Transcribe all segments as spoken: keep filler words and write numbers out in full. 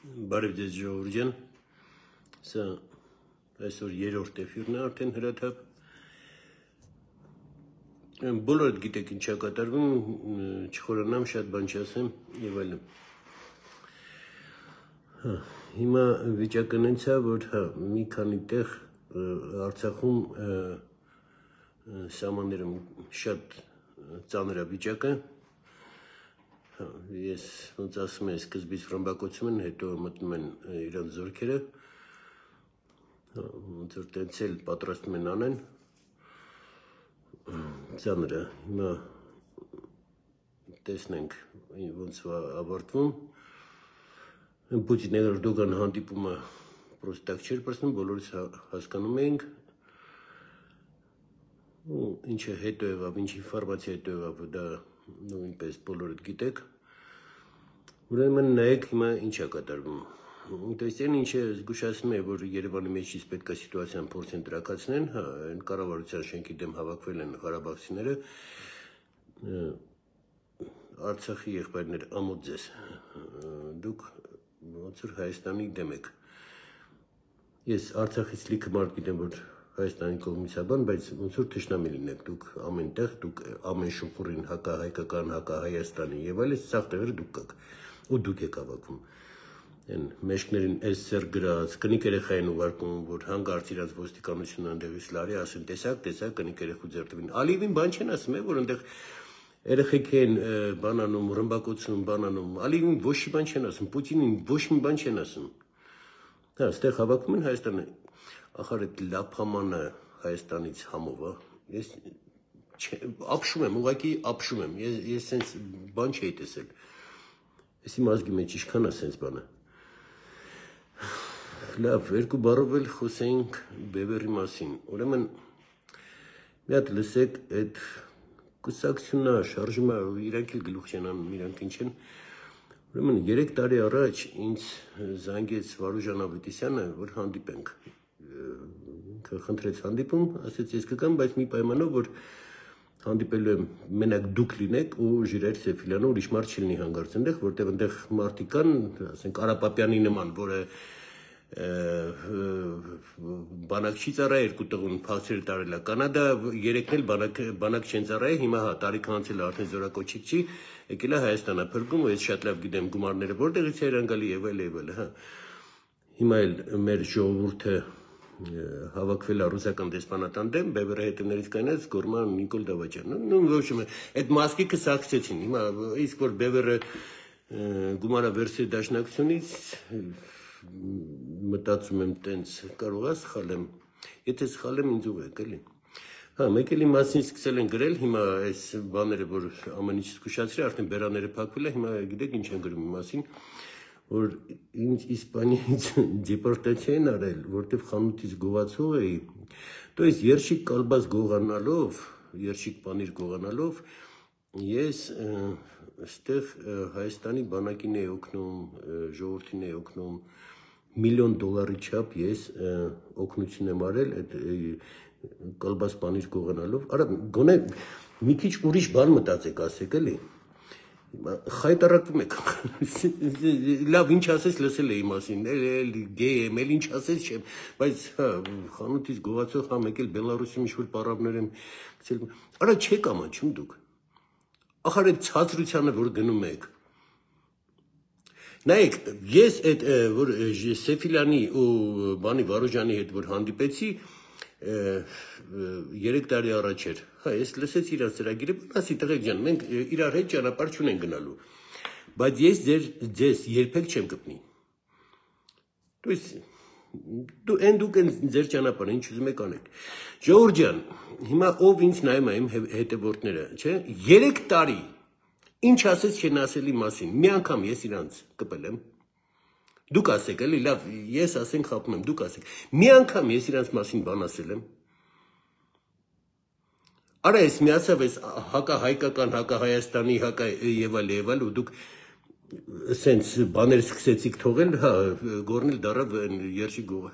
Բարև ձեզ ժողովուրդ, սա այսօր երրորդ էֆիրն է արդեն հրաթափ։ Բոլորդ գիտեք ինչ է կատարվում, չխորանամ, շատ բան չասեմ եւ այլն։ Հիմա վիճակը նենց է, որ հա մի քանի տեղ Արցախում սահմաններում շատ ծանր է վիճակը։ Ես ոնց ասում եմ, սկզբից ռմբակոծում են, հետո մտնում են իրանց զորքերը, ոնց որ տենց էլ պատրաստում են անեն, ծանր է, հիմա տեսնենք ոնց ավարտվում, Պուտինի Էրդոգան հանդիպումը պրոստը տակ չէր պրծնում, բոլորս հասկանում էինք, ինչը հետո եղավ, ինչ ինֆորմացիա հետո եղավ, դա նույնպես բոլորդ գիտեք, ուրեմն նայեք հիմա ինչ է կատարվում, տեսք են ինչը զգուշացնում է, որ Երևանի մեջից պետք է սիտուացիան փորձեն տրաքացնեն, այն կառավարության շենքի դեմ հավաքվել են ղարաբաղցիները, Արցախի եղբայրներ ամոթ ձեզ, դուք ոնց որ Հայաստանի դեմ եք, ես Արցախից լիքը մարդ գիտեմ, որ Հայաստանի կողմից է բան, բայց ոնց որ թշնամի լինեք, դուք ամեն տեղ, դուք ամեն շուխուրին հակահայկական, հակահայաստանի եւ այլն, սաղ տեղերը դուք կաք, ու դուք եք ավակվում, են մեջքներին էս սեր գրած, կնիկ երեխային ուղարկում, որ հանգարց իրաց ոստիկանությունը ընդեղից լարի, ասեն տեսակ, տեսակ, կնիկ երեխու ձերտվին, Ալիևին բան չեն ասում, որ ընդեղ երեխեք են բանանում, ռմբակոծում, բանանում, Ալիևին ոչ մի բան չեն ասում, Պուտինին ոչ մի բան չեն ասում, հա, ստեղ հավաքում են Հայաստանը, ախար այդ լափամանը Հայաստանից համով, ես ապշում եմ, ուղղակի ապշում եմ, ես սենց բան չէի տեսել, ես իմ ազգի մեջ ինչքան է սենց բանը, լավ, երկու բառով էլ խոսենք բևերի մասին, ուրեմն մի հատ լսեք այդ կուսակցությունա, շարժումա, իրանք էլ գլուխ չեն անում, իրանք ինչ են, ուրեմն երեք տարի առաջ ինձ զանգեց Վարուժան Ավետիսյանը, որ հանդիպենք, խնդրեց հանդիպում, ասեց ես կգամ, բայց մի պայմանով, որ հանդիպելու եմ մենակ դուք լինեք ու Ժիրայր Սեֆիլյանը ուրիշ մարդ չլինի հանգարց ընդեղ, որտեղ ընդեղ մարդիկ կան, ասենք Արապապյանի նման, որը բանակ չի ծառայ երկու տղուն փախչել տարել է Կանադա, երեքն էլ բանակ չեն ծառայ, հիմա հա տարիք անցել է արդեն զորակոչիկ չի, եկել է Հայաստան է փրկում, ու ես շատ լավ գիտեմ գումարները որտեղից է իրանգալի եւ այլ եւ այլ, հա։ Հիմա էլ մեր ժողովուրդը հավաքվել է ռուսական դեսպանատան դեմ, բևերը հետևներից կանած Գորման Նիկոլ Դավաճյան, նույն ոչ մի, այդ մասկիկը սակցեցին, հիմա իսկ որ բևերը գումարա վերցրի դաշնակցությունից մտածում եմ տենց կարող է սխալեմ, եթե սխալեմ ինձ ուղեք էլի, հա մեկ էլի մասին սկսել են գրել, հիմա այս բաները, որ ամեն ինչ զգուշացրի, արդեն բերաները փակվել է, հիմա գիտեք ինչ են գրում մասին, որ ինձ Իսպանիայից դեպորտացիա են արել, որտեվ խանութից գողացող էի, то есть երշիկ կալբաս գողանալով, երշիկ պանիր գողանալով, ես այստեղ Հայաստանի բանակին էի օգնում, ժողովրդին էի օգնում, միլիոն դոլարի չափ ես օգնություն եմ արել այդ կալբաս պանիր գողանալով, արա գոնե մի քիչ ուրիշ բան մտածեք ասեք էլի, խայտարակվում եք, լավ ինչ ասես լսել էի մասին, էլ գեյ եմ, էլ ինչ ասես չեմ, բայց խանութից գողացող համ եկել Բելարուսում ինչ-որ պարավներ եմ գցել, արա չեք ամանչում դուք, ախար այդ ցածրությանը, որ գնում եք, նայեք, ես այդ, որ Սեֆիլյանի ու բանի Վարուժանի հետ, որ հանդիպեցի, երեք տարի առաջ էր, հա, ես լսեց իրար ծրագիրը, ասի տղեկ ջան, մենք իրար հետ ճանապարհ չունենք գնալու, բայց ես ձեզ երբեք չեմ կպնի, դու են դուք են ձեր ճանապարհը, ինչ ուզում եք անեք, ժողովուրդ ջան, հիմա ով ինձ նայում է իմ հետևորդները, չէ, երեք տարի, ինչ ասեց չեն ասելի մասին, մի անգամ ես իրանց կպել եմ, դուք ասեք, էլի, լավ, ես ասենք խապում եմ, դուք ասեք, մի անգամ ես իրանց մասին բան ասել եմ, արա ես միացավ ես հակա հայկական, հակա Հայաստանի, հակա եւ այլ եւ այլ, ու դուք սենց բաներ սկսեցիք թողել, հա, գորնել դարավ երշի գողը,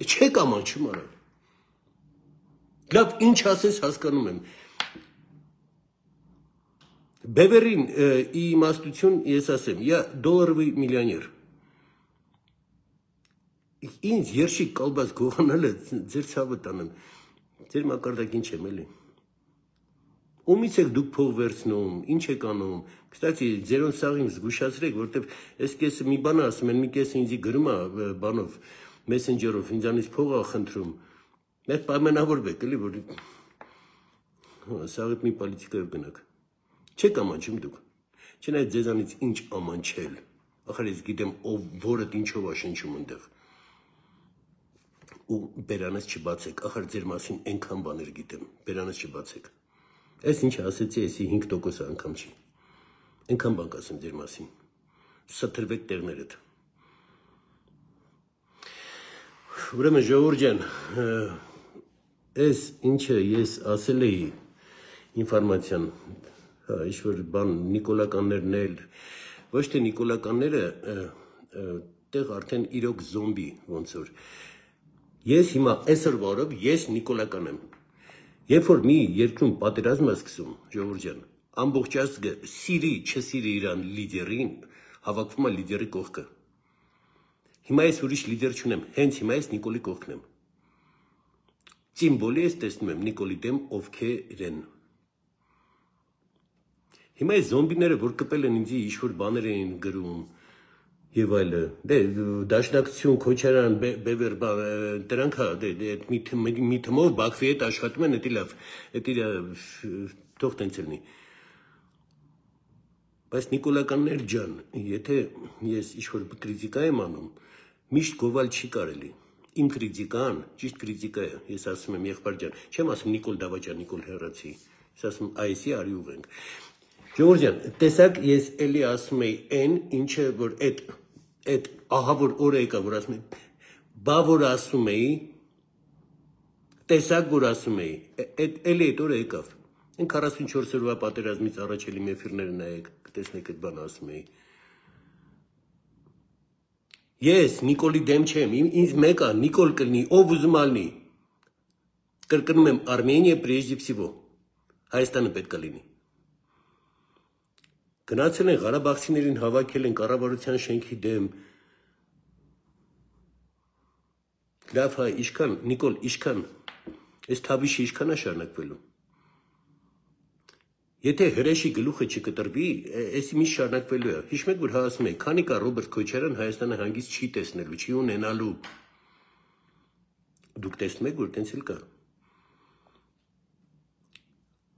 չեք ամանչում արա, լավ, ինչ ասես հասկանում եմ, Բևերին իմաստություն ես ասեմ, я долларовый миллионер, ինձ երշիկ կալբաց գողանալը ձեր ցավը տանեմ, ձեր մակարդակին չեմ էլի։ Ումից եք դուք փող վերցնում, ինչ եք անում։ Կստացի ձերոն սաղին զգուշացրեք, որտեվ այս կեսը մի բան ասում են, մի կեսը ինձի գրում է բանով, մեսենջերով, ինձանից փող ա խնդրում։ Մեր պայմանավորվեք, էլի, որ սաղիդ մի պոլիտիկայով գնաք։ Չեք ամանչում դուք։ Չնայած ձեզանից ինչ ամանչել։ Ախր ես գիտեմ, ով որդ ինչով ա շնչում ընդեղ։ Ու բերանս չբացեք, ախր ձեր մասին այնքան բաներ գիտեմ, բերանս չբացեք։ Այս ինչ ասեցի, էսի հինգ տոկոս անգամ չի։ Այնքան բան կասեմ ձեր մասին։ Սթրվեք տեղներդ։ Ուրեմն ժողովուրդ ջան, այս ինչը ես ասել էի ինֆորմացիան, հա, ինչ-որ բան նիկոլականներն էլ, ոչ թե նիկոլականները, տեղ արդեն իրոք զոմբի ոնց որ։ Ես հիմա այսօր վարով ես նիկոլական եմ։ Երբ որ մի երկրում պատերազմ է սկսում, ժողովուրդ ջան, ամբողջ ազգը սիրի, չսիրի իրան լիդերին, հավաքվում է լիդերի կողքը։ Հիմա ես ուրիշ լիդեր չունեմ, հենց հիմա ես Նիկոլի կողքն եմ։ Սիմվոլի ես տեսնում եմ Նիկոլի դեմ ովքեր են։ Հիմա այս զոմբիները, որ կպել են ինձի ինչ-որ բաներ էին գրում եւ այլը, դե դաշնակցություն, Քոչարյան, Բևեր, դրանք հա, դե մի թմով Բաքվի հետ աշխատում են, դա լավ, դա թող տենց լինի։ Բայց նիկոլականներ ջան, եթե ես ինչ-որ կրիտիկա եմ անում, միշտ գովալ չի կարելի։ Իմ կրիտիկան, ճիշտ կրիտիկա է, ես ասում եմ եղբայր ջան, չեմ ասում Նիկոլ Դավաճան, Նիկոլ Հեռացի, ես ասում այսի արի ուղենք։ Ժողովուրդ ջան, տեսակ ես էլի ասում էի այն, ինչը որ այդ այդ ահա որ օրը եկա, որ ասում էի, բա որ ասում էի, տեսակ որ ասում էի, այդ էլի այդ օրը եկավ։ Այն քառասունչորս օրվա պատերազմից առաջ էլի մեֆիրները նայեք, կտեսնեք այդ բանը ասում էի։ Ես Նիկոլի դեմ չեմ, ինձ մեկ է, Նիկոլ կլինի, ով ուզում ալնի։ Կրկնում եմ, Արմենիա прежде всего, Հայաստանը պետք է լինի։ Գնացել են Ղարաբաղցիներին հավաքել են կառավարության շենքի դեմ։ Լավ հայ, իշքան, Նիկոլ, իշքան, այս թավիշը իշքան է շարունակվելու։ Եթե հրեշի գլուխը չկտրվի, էսի մի շարունակվելու է։ Հիշում եք, որ հա ասում եք, քանի կա Ռոբերտ Քոչարյան Հայաստանը հանգիստ չի տեսնելու, չի ունենալու։ Դուք տեսնում եք, որ տենց էլ կա։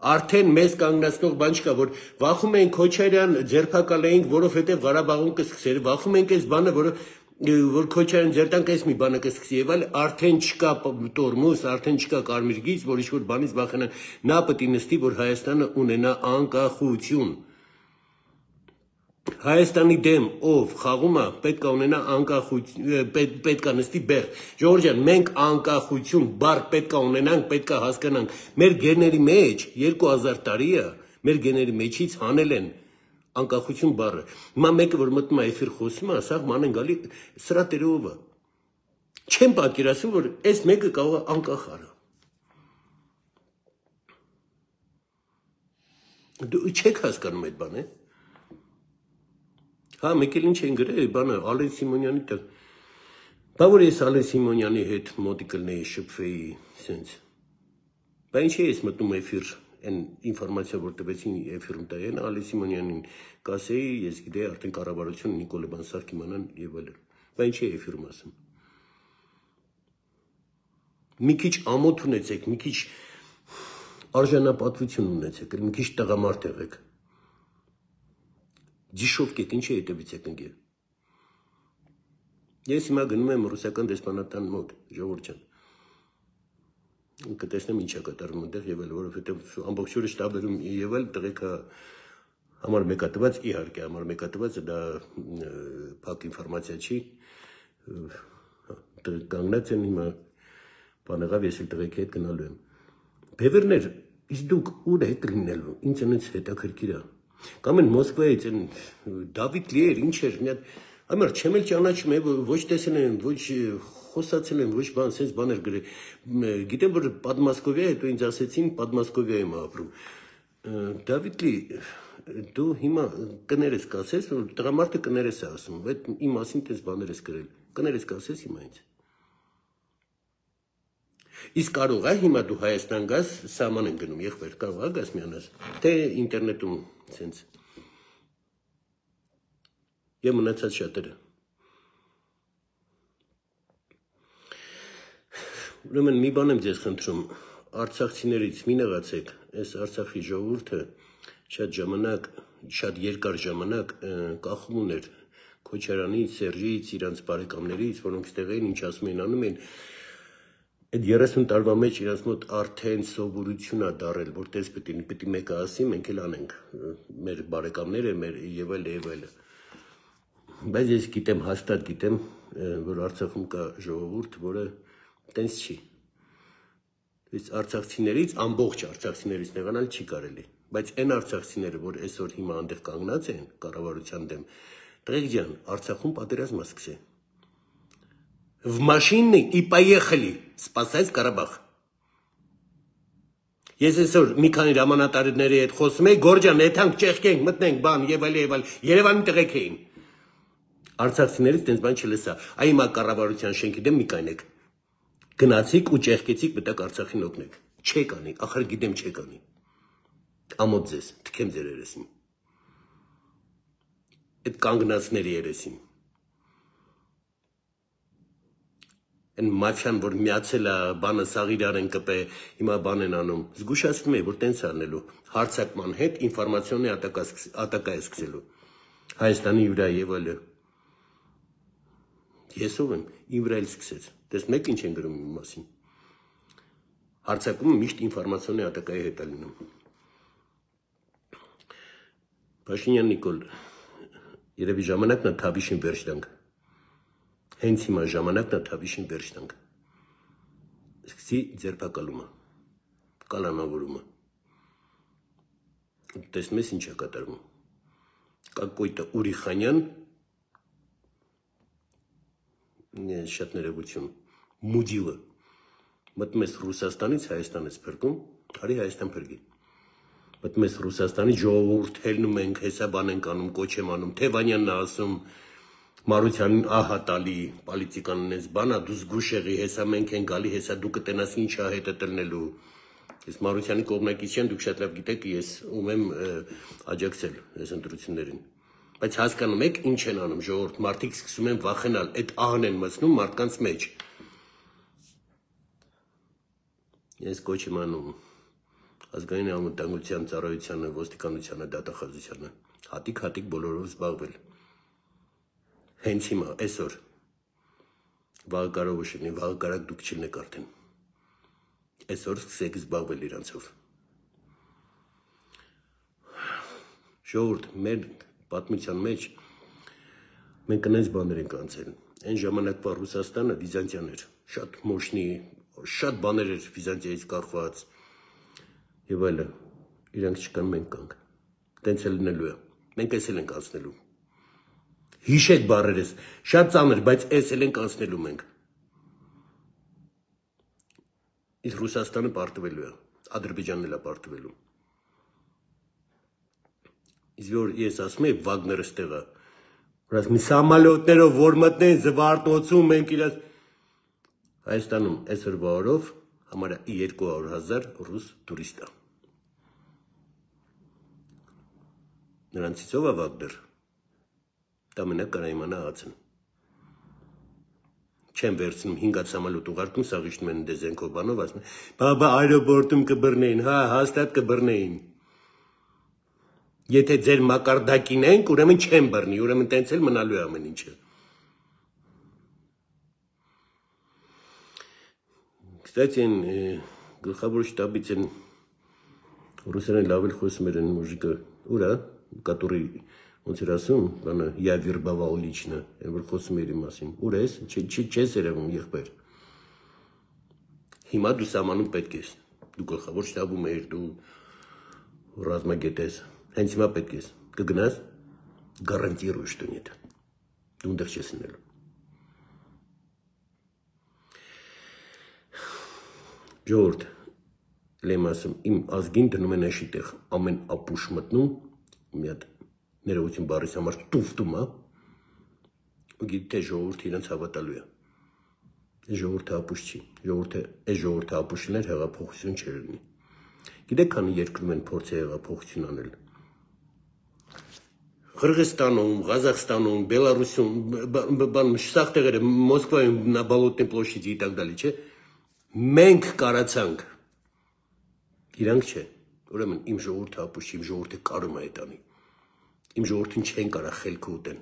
Արդեն մեզ կանգնացնող բան չկա, որ վախում են Քոչարյան ձերբակալեինք, որովհետև Ղարաբաղում կսկսեր, վախում ենք այս բանը, որը որ Քոչարյան ձերտանք այս մի բանը կսկսի եւ այլ, արդեն չկա տորմոս, արդեն չկա կարմիր գիծ, որ ինչ-որ բանից վախենան, նա պետք է նստի, որ Հայաստանը ունենա անկախություն։ Հայաստանի դեմ ով խաղում է, պետք է ունենա անկախություն, պետք է նստի բեր։ Ժողովուրդ ջան, մենք անկախություն բառ պետք է ունենանք, պետք է հասկանանք։ Մեր գեների մեջ երկու հազար տարի է, մեր գեների մեջից հանել են անկախություն բառը։ Հիմա մեկը որ մտնում է էֆիր խոսում է, սա ման են գալի սրա տերով է։ Չեմ պատկերացնում, որ այս մեկը կարող է անկախ արա։ Դու չեք հասկանում այդ բանը։ Հա, մեկ էլ ինչ են գրել, բանը Ալեն Սիմոնյանի տեղ։ Բա որ ես Ալեն Սիմոնյանի հետ մոտիկ կլնեի, շփվեի, սենց։ Բա ինչ է ես մտնում էֆիր, այն ինֆորմացիա, որ տվեցին էֆիրում տային, Ալեն Սիմոնյանին կասեի, ես գիտեի արդեն կառավարություն Նիկոլը Բանսարք իմանան եւ այլն։ Բա ինչ է էֆիրում ասում։ Մի քիչ ամոթ ունեցեք, մի քիչ արժանապատվություն ունեցեք, մի քիչ տղամարդ եղեք։ Դիշովկետ ինչ է հետևից եք ընկել։ Ես հիմա գնում եմ ռուսական դեսպանատան մոտ, ժողովուրդ ջան։ Կտեսնեմ ինչ է կատարվում այնտեղ եւ այլ, որովհետեւ ամբողջ օրը շտաբերում եւ այլ տղեկա համար մեկատված, իհարկե, համար մեկատված դա փակ ինֆորմացիա չի։ Կանգնած են հիմա բանեղավ ես էլ տղեկի հետ գնալու եմ։ Բևերներ, իսկ դուք ուր եք լինելու, ինձ այնց հետաքրքիր է։ Կամ են Մոսկվայից են Դավիթ Լիեր, ինչ էր, մի հատ Ամեր չեմ էլ ճանաչում եմ, ոչ տեսել եմ, ոչ խոսացել եմ, ոչ բան, սենց բաներ գրել։ Գիտեմ, որ Պատմասկովիա, հետո ինձ ասեցին Պատմասկովիա եմ ապրում։ Դավիթ Լի, դու հիմա կներես կասես, որ տղամարդը կներես է ասում, այդ իմ մասին տես բաներ ես գրել։ Կներես կասես հիմա ինձ։ Իսկ կարող է հիմա դու Հայաստան գաս, սահման են գնում, եղբայր, կարող է գաս միանաս, թե ինտերնետում ցենց։ Եվ մնացած շատերը։ Ուրեմն մի բան եմ ձեզ խնդրում, արցախցիներից մի նեղացեք, այս Արցախի ժողովուրդը շատ ժամանակ, շատ երկար ժամանակ կախում ուներ Քոչարյանից, Սերժից, իրանց բարեկամներից, որոնք ստեղ էին, ինչ ասում են, անում են, այդ երեսուն տարվա մեջ իրանց մոտ արդեն սովորություն է դարել, որ տես պիտի մեկը ասի, մենք էլ անենք, մեր բարեկամները, մեր եւ այլ եւ այլը։ Բայց ես գիտեմ, հաստատ գիտեմ, որ Արցախում կա ժողովուրդ, որը տենց չի։ Այս արցախցիներից, ամբողջ արցախցիներից նեղանալ չի կարելի, բայց այն արցախցիները, որ այսօր հիմա այնտեղ կանգնած են կառավարության դեմ, տղեկ ջան, Արցախում պատերազմ սկսե։ В машине и поехали спасать Ղարաբաղ։ Ես այսօր մի քանի հրամանատարների հետ խոսում եի, Գորջան, եթանք ճեղքենք, մտնենք, բան, եւ այլ եւ այլ, Երևանի տղեկ էին։ Արցախցիներից տենց բան չլսա։ Այ հիմա կառավարության շենքի դեմ մի կայնեք։ Գնացիք ու ճեղքեցիք, մտակ Արցախին օգնեք։ Չեք անի, ախր գիտեմ չեք անի։ Ամոթ ձեզ, թքեմ ձեր երեսին։ Այդ կանգնածների երեսին։ Այն մաֆիան, որ միացել է, բանը սաղիրար են կպե, հիմա բան են անում։ Զգուշացնում է, որ տենց անելու։ Հարձակման հետ ինֆորմացիոնի ատակա է սկսելու։ Հայաստանի վրա եւ այլը։ Ես ով եմ, իմ վրա էլ սկսեց։ Դες մեկ ինչ են գրում իմ մասին։ Հարձակումը միշտ ինֆորմացիոնի ատակայի հետ է լինում։ Փաշինյան Նիկոլ, երևի ժամանակն է Թավիշին վերջ տանք։ Հենց հիմա ժամանակն է Թավիշին վերջ տանք։ Սկսի ձերբակալումը, կալանավորումը։ Տեսնում ես ինչ է կատարվում։ Կակոյտը Ուրիխանյան, շատ ներողություն, մուդիլը, մտնում ես Ռուսաստանից, Հայաստան ես փրկում, արի Հայաստան փրկի։ Մտնում ես Ռուսաստանից, ժողովուրդ հելնում ենք, հեսա բան ենք անում, կոչ եմ անում, Թևանյանն է ասում, Մարությանին ահա տալի, պոլիտիկանն ես բանա, դու զգուշ եղի, հեսա մենք են գալի, հեսա դու կտենաս ինչ է հետը տնելու։ Ես Մարությանի կողմնակից չեմ, դուք շատ լավ գիտեք, ես ում եմ աջակցել այս ընտրություններին։ Բայց հասկանում եք ինչ են անում ժողովուրդ, մարդիկ սկսում են վախենալ, այդ ահն են մտնում մարդկանց մեջ։ Ես կոչ եմ անում ազգային անվտանգության ծառայությանը, ոստիկանությանը, դատախազությանը, հատիկ-հատիկ բոլորով զբաղվել։ Հենց հիմա, այսօր, վաղը կարող շնի, վաղը կարակ դուք չլնեք արդեն։ Այսօր սկսեք զբաղվել իրանցով։ Ժողովուրդ, մեր պատմության մեջ մենք այնպես բաներ ենք անցել։ Այն ժամանակվա Ռուսաստանը Վիզանտիան էր, շատ մոշնի, շատ բաներ էր Վիզանտիայից կախված եւ այլը։ Իրանք չկան, մենք կանք։ Տենց էլ լինելու է։ Մենք էս էլ ենք անցնելու։ Հիշեք բառերս, շատ ծանր, բայց էս էլ ենք անցնելու մենք։ Իսկ Ռուսաստանը պարտվելու է, Ադրբեջանն էլ է պարտվելու։ Իսկ որ ես ասում եմ Վագները ստեղը, որ ասում եմ սամալյոտներով որ մտնեն Զվարթնոցում մենք իրաց Հայաստանում այսօր օրով համարյա երկու հարյուր հազար ռուս տուրիստ է։ Նրանցից ով է Վագներ։ Դա մենակ կարա իմանա ացն։ Չեմ վերցնում հինգ սամալյոտ ուղարկում, սաղ իշտում են դեզենքով բանով, ասում են, բաբա այրոպորտում կբռնեին, հա, հաստատ կբռնեին։ Եթե ձեր մակարդակին ենք, ուրեմն չեմ բռնի, ուրեմն տենց էլ մնալու է ամեն ինչը։ Կստати, գլխավոր շտաբից են ռուսերեն լավ էլ խոսում են մուժիկը, ուրա, կատուրի ոնց էր ասում, բանը я вербовал лично, այն որ խոսում էր իմ մասին։ Ուր ես, չես երևում եղբայր։ Հիմա դու սահմանում պետք ես, դու գլխավոր շտաբում ես, դու ռազմագետ ես, հենց հիմա պետք ես, կգնաս, гарантирую, что нет, դու ընդեղ չես լինելու։ Ժողովուրդ, լեմ ասում, իմ ազգին դնում են էշի տեղ, ամեն ապուշ մտնում, մի հատ ներողություն բառիս համար տուֆտում է, ու գիտի թե ժողովուրդը իրենց հավատալու է։ ժողովուրդը ապուշ չի, ժողովուրդը այս ժողովուրդը ապուշներ հեղափոխություն չէր լինի։ Գիտեք, քանի երկրում են փորձ հեղափոխություն անել։ Qırğızstանում, Ղազախստանում, Բելարուսում, բան սաղ տեղերը, Մոսկվայում, на Болотной площади и так далее, չէ։ Մենք կարացանք։ Իրանք չէ։ Ուրեմն իմ ժողովուրդը ապուշ, իմ ժողովուրդը կարում է այդ անի։ Իմ ժողովուրդին չեն կարա խելքը ուտեն։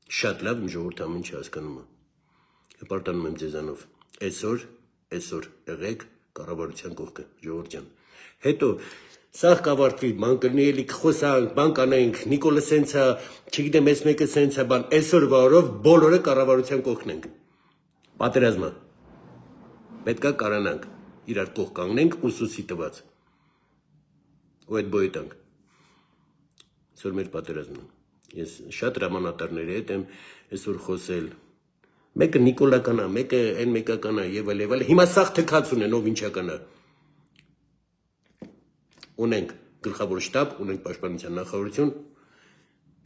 Շատ լավ իմ ժողովուրդը ամեն ինչ հասկանում է։ Հպարտանում եմ ձեզանով։ Այսօր, այսօր եղեք կառավարության կողքը, ժողովուրդ ջան։ Հետո սաղ կավարտվի, բան կլինի էլի խոսանք, բան կանենք, Նիկոլը սենց է, չգիտեմ, ես մեկը սենց է, բան, այսօր վարով բոլորը կառավարության կողքն ենք։ Պատերազմը։ Պետքա կարանանք, իրար կողք կանգնենք ուսուսի տված։ Ու այդ բոյ տանք։ Այսօր մեր պատերազմն է։ Ես շատ հրամանատարների հետ եմ այսօր խոսել։ Մեկը Նիկոլական է, մեկը այն մեկական է, եւ այլ եւ այլ։ Հիմա սաղ թքած ունեն, ով ինչա կանա։ Ունենք գլխավոր շտաբ, ունենք պաշտպանության նախարարություն։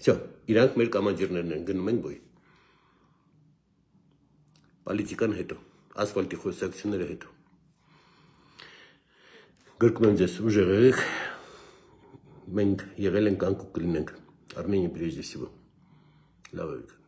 Всё, իրանք մեր կամանդիրներն են, գնում են բոյ։ Պոլիտիկան հետո, ասֆալտի խոսակցությունները հետո։ Գրկում եմ ձեզ, ուժեղ եղեք, մենք եղել ենք անկու կլինենք, Արմենիա прежде всего։ Լավ եք։